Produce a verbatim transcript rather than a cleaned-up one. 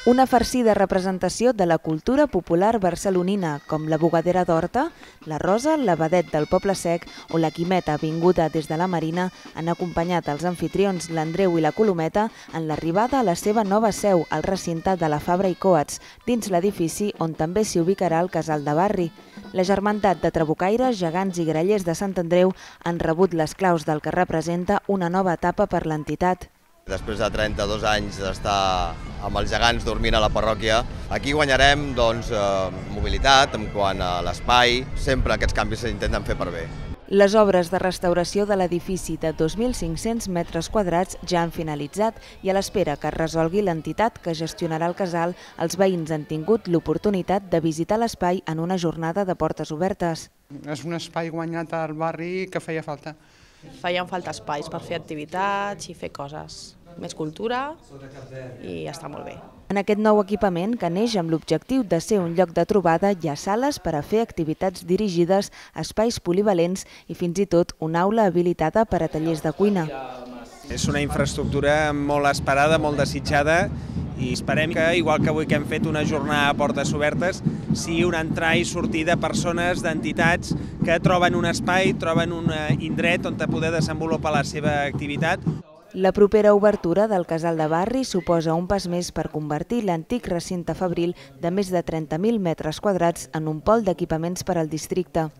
Una farcida representació de la cultura popular barcelonina, com la bugadera d'Horta, la Rosa, la Vedet del Poble Sec o la Quimeta vinguda des de la Marina, han acompanyat els anfitrions l'Andreu i la Colometa en l'arribada a la seva nova seu, al recinte de la Fabra i Coats, dins l'edifici on també s'hi ubicarà el casal de barri. La germandat de trabucaires, gegants i grallers de Sant Andreu han rebut les claus del que representa una nova etapa per l'entitat. Després de trenta-dos anys d'estar amb els gegants dormint a la parròquia, aquí guanyarem doncs, mobilitat en quant a l'espai. Sempre aquests canvis s'intenten fer per bé. Les obres de restauració de l'edifici de dos mil cinc-cents metres quadrats ja han finalitzat i a l'espera que es resolgui l'entitat que gestionarà el casal, els veïns han tingut l'oportunitat de visitar l'espai en una jornada de portes obertes. És un espai guanyat al barri que feia falta. Feien falta espais per fer activitats i fer coses, més cultura i està molt bé. En aquest nou equipament, que neix amb l'objectiu de ser un lloc de trobada, hi ha sales per a fer activitats dirigides, espais polivalents i fins i tot una aula habilitada per a tallers de cuina. És una infraestructura molt esperada, molt desitjada, i esperem que, igual que avui que hem fet una jornada a portes obertes, sigui una entrada i sortida de persones, d'entitats que troben un espai, troben un indret on poder desenvolupar la seva activitat. La propera obertura del casal de barri suposa un pas més per convertir l'antic recinte fabril de més de trenta mil metres quadrats en un pol d'equipaments per al districte.